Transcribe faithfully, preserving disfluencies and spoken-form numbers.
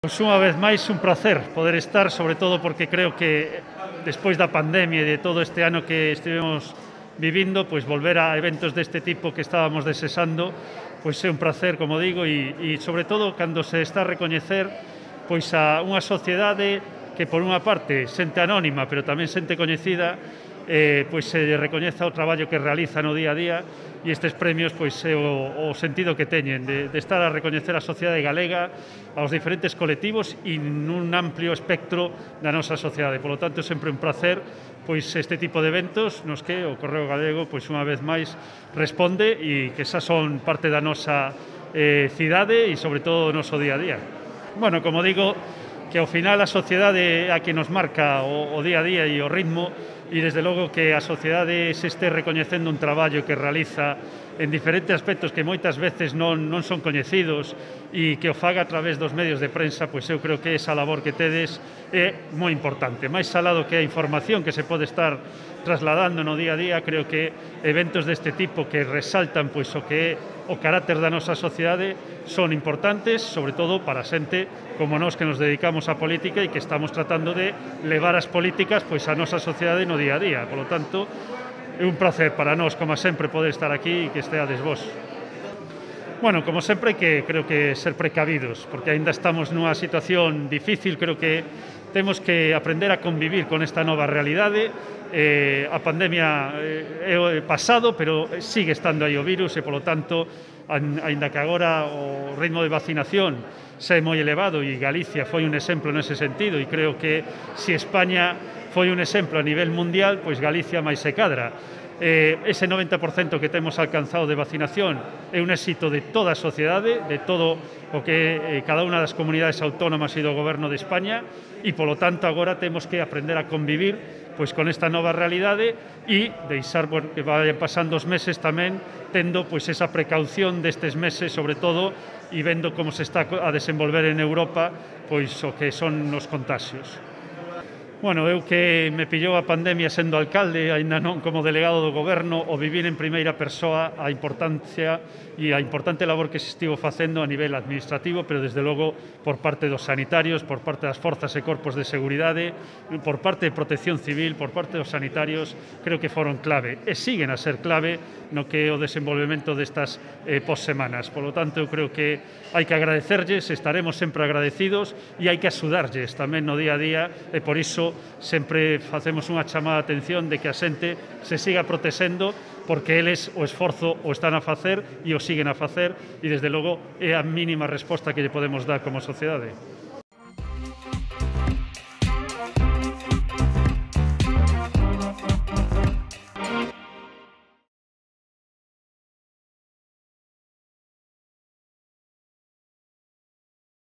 Pois unha vez máis un placer poder estar, sobre todo porque creo que despois da pandemia e de todo este ano que estivemos vivindo, pois volver a eventos deste tipo que estábamos desexando, pois é un placer, como digo, e, e sobre todo cando se está a recoñecer pois a unha sociedade que por unha parte xente anónima, pero tamén xente coñecida, eh, pois se recoñeza o traballo que realiza no día a día, e estes premios pois é o, o sentido que teñen de, de estar a recoñecer a sociedade galega, aos diferentes colectivos e nun amplio espectro da nosa sociedade. Polo tanto, é sempre un placer pois este tipo de eventos nos que o Correo Galego pois unha vez máis responde e que xa son parte da nosa eh, cidade e sobre todo do noso día a día. Bueno, como digo, que ao final a sociedade é a que nos marca o, o día a día e o ritmo, e desde logo que a sociedade se este recoñecendo un traballo que realiza en diferentes aspectos que moitas veces non, non son coñecidos e que o faga a través dos medios de prensa, pois eu creo que esa labor que tedes é moi importante. Mais alado que a información que se pode estar trasladando no día a día, creo que eventos deste tipo que resaltan pois o que é o carácter da nosa sociedade son importantes, sobre todo para xente como nós que nos dedicamos á política e que estamos tratando de levar as políticas pois a nosa sociedade no día a día. Por lo tanto, é un placer para nós, como sempre, poder estar aquí e que esteades vos. Bueno, como sempre, que creo que ser precavidos, porque aínda estamos nunha situación difícil, creo que temos que aprender a convivir con esta nova realidade. Eh, a pandemia é eh, pasado, pero sigue estando aí o virus e, polo tanto, aínda que agora o ritmo de vacinación xa é moi elevado e Galicia foi un exemplo nese sentido, e creo que se España foi un exemplo a nivel mundial, pois Galicia máis se cadra. Eh, ese noventa por cento que temos alcanzado de vacinación é un éxito de toda a sociedade, de todo o que eh, cada unha das comunidades autónomas e do goberno de España, e polo tanto agora temos que aprender a convivir pois con esta nova realidade e deixar bueno, que vayan pasando os meses tamén tendo pois esa precaución destes meses, sobre todo, e vendo como se está a desenvolver en Europa pois o que son os contagios. Bueno, eu que me pillou a pandemia sendo alcalde, aínda non como delegado do goberno, o vivir en primeira persoa a importancia e a importante labor que se estivo facendo a nivel administrativo, pero desde logo por parte dos sanitarios, por parte das forzas e corpos de seguridade, por parte de Protección Civil, por parte dos sanitarios, creo que foron clave e siguen a ser clave no que é o desenvolvemento destas eh, possemanas. Por lo tanto, eu creo que hai que agradecerlles, estaremos sempre agradecidos e hai que axudarlles tamén no día a día e por iso sempre facemos unha chamada de atención de que a xente se siga protexendo porque eles o esforzo o están a facer e o siguen a facer e desde logo é a mínima resposta que lle podemos dar como sociedade.